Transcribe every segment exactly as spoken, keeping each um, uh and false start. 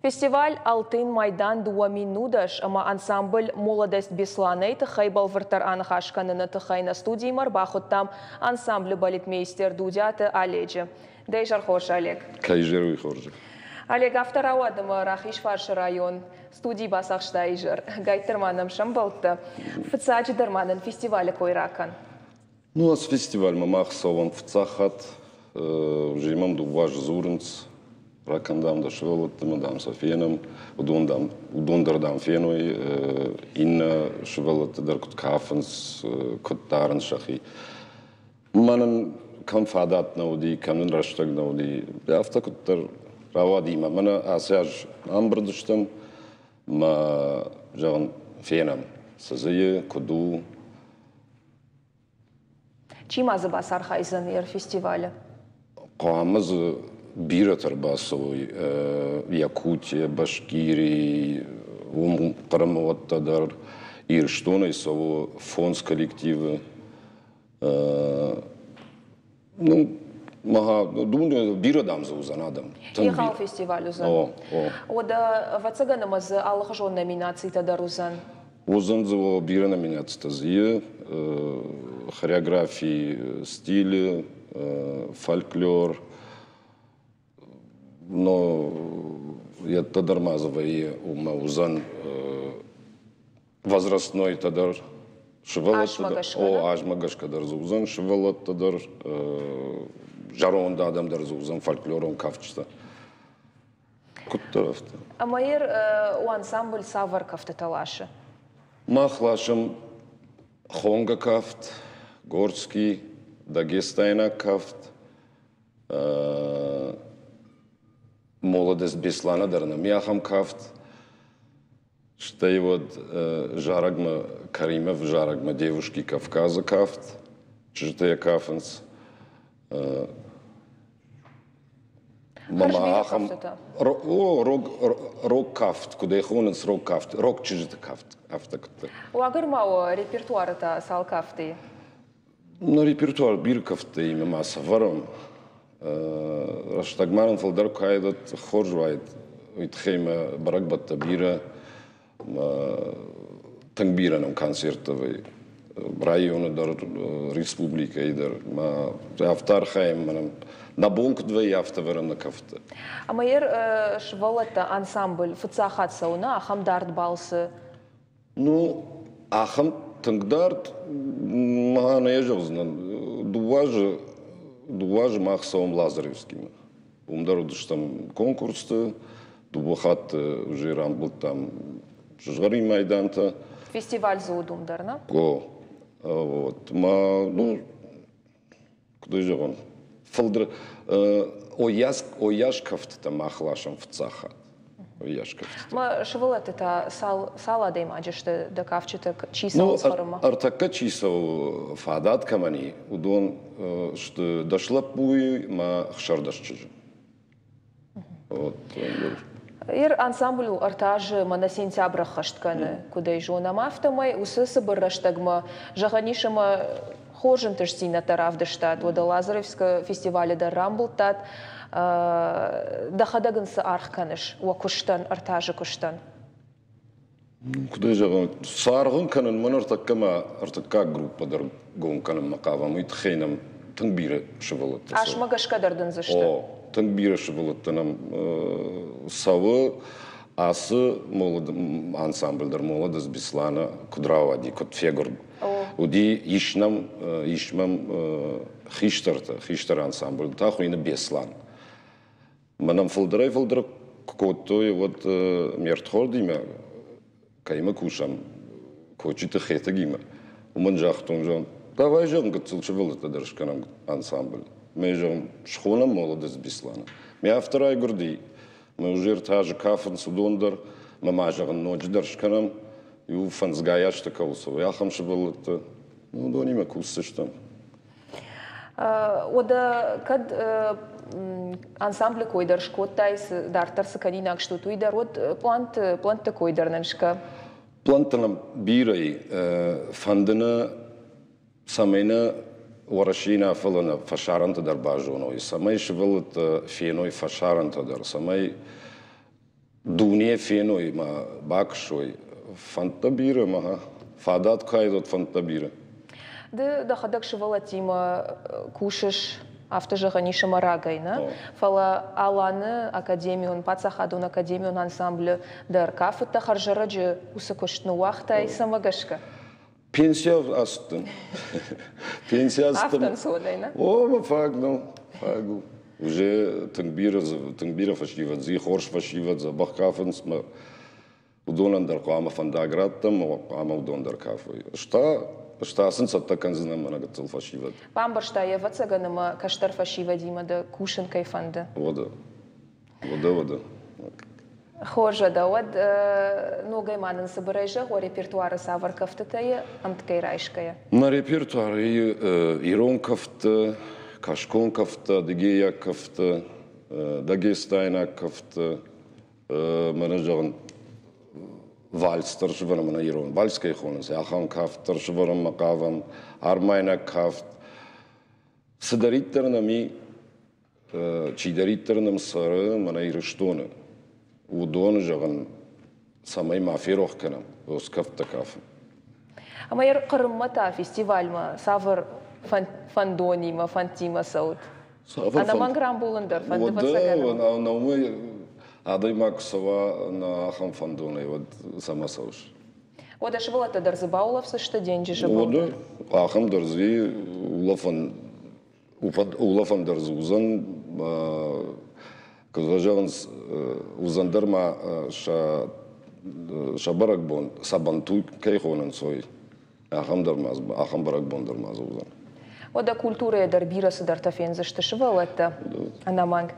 Фестиваль «Алтын Майдан» дыууӕ мин нудӕс ӕмӕ ансамбль «Молодость Беслана»-йы тыххӕй бӕлвырддӕр аныхас кӕныны тыххӕй нӕ студимӕ ӕрбахуыдтам ансамблы балетмейстер Дудиаты Оледжы. Дӕ изӕр хорз, Олег. Кӕй изӕр, уый хорз. Олег, афтӕ рауад, ӕмӕ Рахизфарсы район студийы бацахста изӕр. Гайддӕр ма нӕм сӕмбӕлдтӕ. Фыццаджыдӕр ма нын фестивалы кой ракӕн. Ну, ацы фестивальмӕ мах цӕуӕм фыццаг хатт. Уже мӕм дыууӕ азы дзурынц, ракӕн, дам, дӕ сывӕллӕтты, дам, сӕ фенӕм, уыдон, дам, уыдон дӕр, дам, феной, иннӕ сывӕллӕтты дӕр куыд кафынц, куыд дарынц сӕхи. Мӕнӕн кӕм фадат нӕ уыди, кӕм нын рӕстӕг нӕ уыди, афтӕ куыддӕр рауади мӕ. Мӕнӕ ацы аз ӕмбырд стӕм, мӕ, зӕгъын, фенӕм, цы дзы и, куыд у. Чи ма дзы бацархайдзӕн йӕ фестивалы? Хъуамӕ дзы бирӕтӕ ӕрбацӕуой Якутия, Башкирии, уым Хъырымы уӕттӕ дӕр, Ирыстонӕй цӕуы фондз коллективы. Ну, мага, думаю, бирӕ, дам, дзы уыдзӕн адӕм. Егъау фестиваль уыдзӕн. О, о. Уӕдӕ, ӕвӕццӕгӕн, ӕмӕ дзы алыхуызон номинацитӕ дӕр уыдзӕн. Уыдзӕн дзы бирӕ номинацитӕ дзы и. Хореографи, стили, фольклор, но йедтӕ дӕр ма дзы вӕййы, уымӕ уыдзӕн возрастнойтӕ дӕр, сывӕллӕттӕ дӕр. О, азмӕ гӕсгӕ дӕр дзы уыдзӕн сывӕллӕттӕ дӕр, зӕронд адӕм дӕр дзы уыдзӕн, фольклорон кафджытӕ. Куыддӕр афтӕ. Ӕмӕ йер у ансамбль цавӕр кӕфтытӕ ласы? Мах ласӕм хонга кафт, горский, дагестайнаг кафт, «Молодость Беслана» дӕр нӕм ахӕм кафт. Стӕй уӕд зарӕгмӕ, Каримов зарӕгмӕ «Девушки Кавказа» кафт, чызджытӕ йӕ кафынц. Мама ахӕм о, рог, рог кафт, куыд ӕй хонынц, рог кафт, рог чызджыты кафт, афтӕ куыддӕр. Уагӕр ма у репертуары та цал кафты? На репертуар бирӕ кӕфтытӕ ма сӕвӕрӕм. Рӕстӕгмӕ нын фылдӕр куы уаид, хорз уаид. Уый тыххӕй мӕ бӕрӕгбӕттӕ бирӕ, тынг бирӕ нӕм концерттӕ вӕййы. Районы дӕр, республикӕйы дӕр. Ма афтӕ архайӕм, мӕнӕ нӕ бон куыд вӕййы, афтӕ вӕрӕм нӕ кӕфтты. Ӕмӕ йер сывӕллӕттӕ ансамбль фыццаг хатт цӕуы нӕ ахӕм дард балцы? Ну, ахӕм тынг дард ма нӕ зӕгъдзынӕн. Дыууӕ азы, дыууӕ азы мах цӕуӕм Лазаревскимӕ. Уым дӕр уыдыстӕм конкурсты, дыууӕ хатты уже рамбылдтам сызгъӕрин майдантӕ. Фестиваль дзы уыд уым дӕр, нӕ? О, вот. Ма, ну, куыд ӕй зӕгъон, фылдӕр ойас, ойас кӕфтытӕ мах ласӕм фыццаг хатт. Ойас кӕфтытӕ. Ма сывӕллӕтты та цал, цал адӕймаджы сты дӕ кафджытӕ, чи цӕуы Хъырыммӕ? Ӕртӕккӕ чи цӕуы, фадат кӕмӕн и, уыдон сты дӕс лӕппуйы ӕмӕ ӕхсӕрдӕс чызджы. Вот. Ир ансамбль у ӕртӕ азы мӕнӕ сентябры ӕххӕст кӕны. Куыд ӕй зонӕм, афтӕмӕй уыцы цыбыр рӕстӕгмӕ, зӕгъӕн ис, ӕмӕ хорз ӕнтыстдзинӕдтӕ равдыстат. Уӕдӕ Лазаревскы фестивалы дӕр рамбылдтат. Дӕхӕдӕг ын цы аргъ кӕныс уӕ куыстӕн, ӕртӕ азы куыстӕн? Куыд ӕй зӕгъон, цы аргъ ын кӕнын, мӕн ӕртӕккӕ ма ӕртыккаг группӕ дӕр гом кӕнынмӕ хъавӕм, уый тыххӕй нӕм тынг бирӕ сывӕллӕттӕ цӕуы. Асмӕ гӕсгӕ дӕр дын дзы сты? О, тынг бирӕ сывӕллӕттӕ нӕм цӕуы. Ацы ансамбль дӕр «Молодость Беслана» куыд рауади, куыд фегуырд. Уыди, ис нӕм, ис мӕм хистӕртӕ, хистӕр ансамбль та хуыйны «Беслан». Мӕнӕн фылдӕрӕй-фылдӕр куы кодтой, уӕд ме рдхордимӕ, кӕимӕ кусӕм, Кочиты Хетӕгимӕ, уымӕн загътон, зӕгъын, давай, зӕгъын, гыццыл сывӕллӕттӕ дӕр скӕнӕм ансамбль. Мӕ, зӕгъын, схонӕм «Молодость Беслана». Мӕ афтӕ райгуырди, мӕ уже ӕртӕ азы кафынц уыдон дӕр, мӕ ма, зӕгъын, ноджыдӕр скӕнӕм, иу фӕндзгай азты кӕуыл цӕуы, ахӕм сывӕллӕттӕ, уыдонимӕ кусдзыстӕм. Уӕдӕ кӕд ансамблы кой дӕр скодтай, дарддӕр цы кӕнинаг стут, уый дӕр, уӕд планты, плӕнтты кой дӕр нын скӕ. Плӕнттӕ нӕм бирӕ и. Фӕнды нӕ, цӕмӕй нӕ Уӕрӕсейы нӕ, фӕлӕ нӕ фӕсарӕнты дӕр базоной, цӕмӕй сывӕллӕттӕ феной фӕсарӕнтӕ дӕр, цӕмӕй Дуне феной ма бакӕсой. Фӕндтӕ бирӕ ма фадат куы уӕд фӕндтӕ бирӕ. Ды дӕхӕдӕг сывӕллӕттимӕ кусыс, афтӕ зӕгъӕн ис, ӕмӕ рагӕй, нӕ? Фӕлӕ Аланы академион, паддзахадон академион ансамблы дӕр кафыдтӕ, хӕрзӕрӕджы уыцы куыст ныууагътай, цӕмӕ гӕсгӕ? Пенсия ацыдтӕн. Пенсия ацыдтӕн. Афтӕ ӕнцонӕй, нӕ? О, мӕ фаг нӕу, фаг у. Уже тынг бирӕ, тынг бирӕ фӕсивӕд дзы, хорз фӕсивӕд дзӕбӕх кафынц мӕ уыдонӕн дӕр хъуамӕ фӕндаг раттӕм, хъуамӕ уыдон дӕр кафой. Ӕз та сын цӕттӕ кӕндзынӕн мӕнӕ гыццыл фӕсивӕд. Бамбӕрста йӕ, ӕвӕццӕгӕн, ӕмӕ кӕстӕр фӕсивӕдимӕ дӕ кусын кӕй фӕнды. Уӕдӕ, уӕдӕ, уӕдӕ. Хорз, уӕдӕ, уӕд ногӕй ма нын цыбырӕй зӕгъ, уӕ репертуары цавӕр кӕфтытӕ ӕмткӕй райсгӕйӕ? Нӕ репертуары ирон кӕфттӕ, кӕсгон кӕфттӕ, адыгейаг кӕфттӕ, дагестайнаг кӕфттӕ, мӕнӕ зӕгъын, вальс дӕр сывӕрӕм, мӕнӕ ирон вальс кӕй хонынц, ахӕм кафт дӕр сывӕрӕм хъавӕм, армайнаг кафт. Цыдӕриддӕр нӕм и, чидӕриддӕр нӕм цӕры мӕнӕ Ирыстоны, уыдоны, зӕгъын, цӕмӕй ма ферох кӕнӕм, уыцы кӕфттӕ кафын. Ӕмӕ Хъырыммӕ та фестивальмӕ цавӕр фӕндонимӕ, фӕндтимӕ цӕут? Ӕнӕмӕнг рамбулын дӕр фӕнды, ӕвӕццӕгӕн? Уӕдӕ, адӕймаг куы цӕуа нӕ ахӕм фӕндонӕй, уӕд цӕмӕ цӕуыс? Уӕдӕ сывӕллӕттӕ дӕр дзы баулӕфдзысты денджызы был? Уӕдӕ, ахӕм дӕр дзы улӕфӕн, улӕфӕн дӕр дзы уыдзӕн. Куыд фӕзӕгъынц, уыдзӕн дӕр ма сӕ сӕ бӕрӕгбон Сабантуй кӕй хонынц, уый. Ахӕм дӕр ма ахӕм бӕрӕгбон дӕр ма дзы уыдзӕн. Уӕдӕ культурӕйӕ дӕр бирӕ цыдӕртӕ фендзысты сывӕллӕттӕ, ӕнӕмӕнг.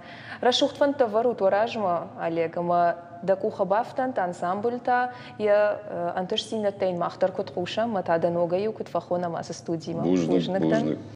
Рӕсугъд фӕндтӕ вӕрут уӕ размӕ, Олег, ӕмӕ дӕ къухы бафтӕнт ансамбль та йӕ ӕнтыстдзинӕдтӕ йын мах дӕр куыд хъусӕм, ӕмӕ та дӕ ногӕй-иу куыд фӕхонӕм ацы студимӕ. Бузныг, бузныг.